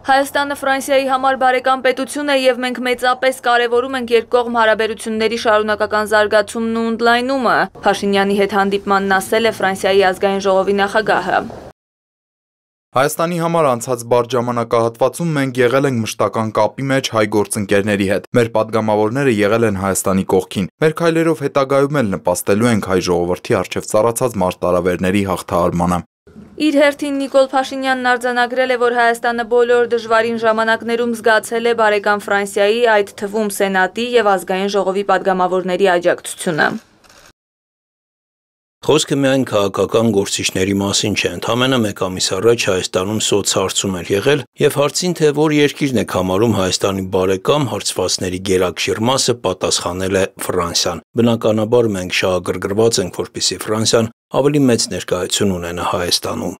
Հայաստանը Ֆրանսիայի համար բարեկամ պետություն է եւ մենք մեծապես կարեւորում ենք երկկողմ հարաբերությունների շարունակական զարգացումն ու ընդլայնումը, Փաշինյանի հետ հանդիպմանն ասել է Ֆրանսիայի ազգային ժողովի նախագահը։ Հայաստանի համար անցած բարդ ժամանակահատվածում մենք եղել ենք մշտական կապի մեջ հայ գործընկերների հետ։ Մեր падգամավորները եղել են Հայաստանի կողքին։ Մեր քայլերով հետագայում էլ նպաստելու ենք հայ ժողովրդի առջև ծառացած մարտահրավերների հաղթահարմանը։ Իր հերթին Նիկոլ Փաշինյանն արձանագրել է, որ Հայաստանը բոլոր դժվարին ժամանակներում զգացել է բարեկամ Ֆրանսիայի, այդ թվում Սենատի եւ ազգային ժողովի падգամավորների աջակցությունը։ Խոսքը միայն քաղաքական գործիչների մասին չէ, ընդամենը մեկ ամիս առաջ Հայաստանում սոցհարցում էր եղել եւ հարցին, թե որ երկիրն է համարում Հայաստանի բարեկամ, հարցվածների գերակշիռ մասը պատասխանել է Ֆրանսիան։ Բնականաբար մենք շահագրգռված ենք, որպեսզի Ֆրանսիան ավելի մեծ ներկայություն ունենա Հայաստանում։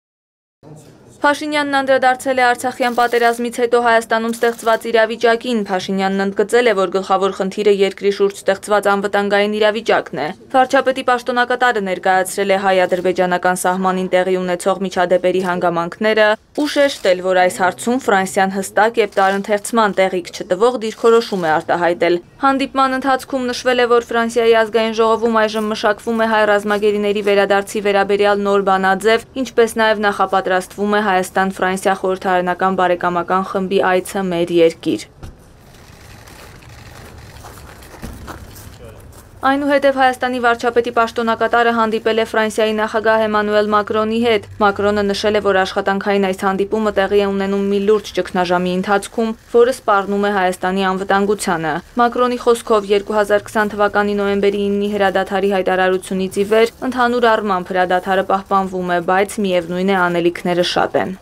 Փաշինյանն անդրադարձել է Արցախյան պատերազմից հետո Հայաստանում ստեղծված իրավիճակին։ Փաշինյանն ընդգծել է, որ գլխավոր խնդիրը երկրի շուրջ ստեղծված անվտանգային իրավիճակն է։ Վարչապետի պաշտոնակատարը ներկայացրել է հայ-ադրբեջանական սահմանին տեղի ունեցող միջադեպերի հանգամանքները ու շեշտել, որ այս հարցում Ֆրանսիան հստակ եւ տարընթերցման տեղիք չտվող դիրքորոշում է արտահայտել։ Հանդիպման ընթացքում նշվել է, որ Ֆրանսիայի ազգային ժողովում այժմ մշակվում է հայ ռազմագերիների վերադարձի վերաբերյալ նոր բանաձև, ինչպես նաեւ նախապատրաստվում է Հայաստան-Ֆրանսիա խորհրդարանական բարեկամական խմբի այցը մեր երկիր։ Այնուհետև Հայաստանի վարչապետի պաշտոնակատարը հանդիպել է Ֆրանսիայի նախագահ Էմանուել Մակրոնի հետ։ Մակրոնը նշել է, որ աշխատանքային այս հանդիպումը տեղի է ունենում մի լուրջ ճգնաժամի ընթացքում, որը սպառնում է Հայաստանի անվտանգությանը։ Մակրոնի խոսքով 2020 թվականի նոյեմբերի 9-ի հրադադարի հայտարարությունից ի վեր ընդհանուր առմամբ հրադադարը պահպանվում է, բայց միևնույն է անելիքները շատ են։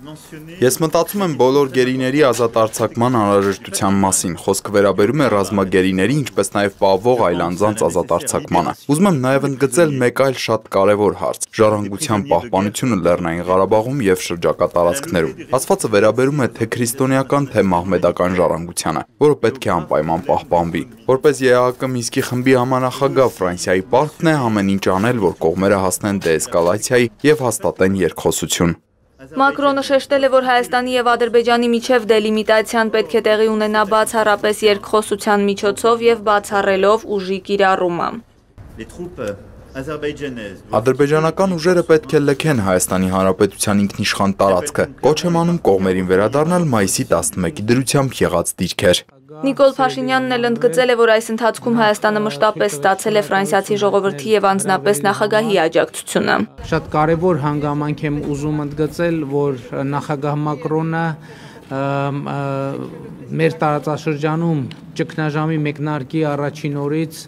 Ես մտածում եմ բոլոր գերիների ազատ արձակման անհրաժեշտության մասին, խոսքը վերաբերում է ռազմագերիների, ինչպես նաև պահվող այլ անձանց ազատ արձակմանը։ Ուզում եմ նաև ընդգծել մեկ այլ շատ կարևոր հարց՝ ժառանգության պահպանությունը Լեռնային Ղարաբաղում եւ շրջակա տարածքներում։ Ասվածը վերաբերում է թե քրիստոնեական, թե մահմեդական ժառանգությանը, որը պետք է անպայման պահպանվի։ Որպես ԵԱՀԿ Մինսկի խմբի համանախագահ Ֆրանսիայի պարտքն է ամեն ինչ անել, որ կողմերը հասնեն դեէսկալացիայի եւ հաստատեն երկխոսություն։ Մակրոնը շեշտել է, որ Հայաստանի եւ Ադրբեջանի միջև դելիմիտացիան պետք է տեղի ունենա բացառապես երկխոսության միջոցով եւ բացառելով ուժի կիրառումը։ Ադրբեջանական ուժերը պետք է լքեն Հայաստանի Հանրապետության ինքնիշխան տարածքը։ Կոչ եմ անում կողմերին վերադառնալ մայիսի 11-ի դրությամբ եղած դիրքեր։ Նիկոլ Փաշինյանն էլ ընդգծել է, որ այս ընթացքում Հայաստանը մշտապես ստացել է ֆրանսիացի ժողովրդի եւ անձնապես նախագահի աջակցությունը։ Շատ կարևոր հանգամանք եմ ուզում ընդգծել, որ նախագահ Մակրոնը մեր տարածաշրջանում ճգնաժամի մեկնարկի առաջին օրից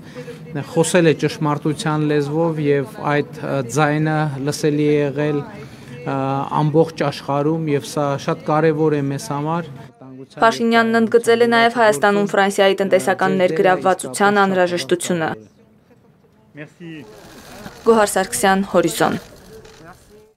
խոսել է ճշմարտության լեզվով եւ այդ ձայնը լսելի է եղել ամբողջ աշխարհում եւ սա շատ կարևոր է մեզ համար։ Փաշինյանն ընդգծել է նաև Հայաստանում Ֆրանսիայի տնտեսական ներգրավվածության անհրաժեշտությունը։ Գոհար Սարգսյան, Հորիզոն։